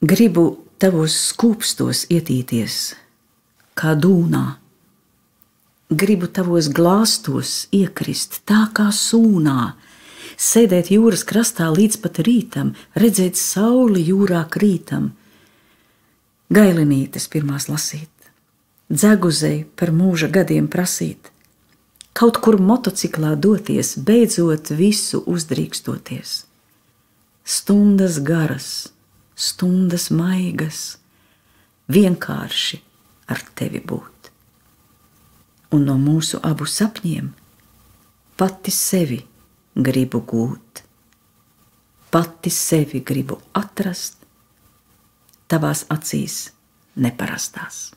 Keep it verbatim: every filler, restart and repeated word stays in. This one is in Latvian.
Gribu tavos skūpstos ietīties, kā dūnā. Gribu tavos glāstos iekrist, tā kā sūnā, sēdēt jūras krastā līdz pat rītam, redzēt sauli jūrā krītam, gailinītes pirmās lasīt, dzeguzei par mūža gadiem prasīt, kaut kur motociklā doties, beidzot visu uzdrīkstoties. Stundas garas, stundas maigas, vienkārši ar tevi būt. Un no mūsu abu sapņiem pati sevi gribu gūt. Pati sevi gribu atrast tavās acīs neparastās.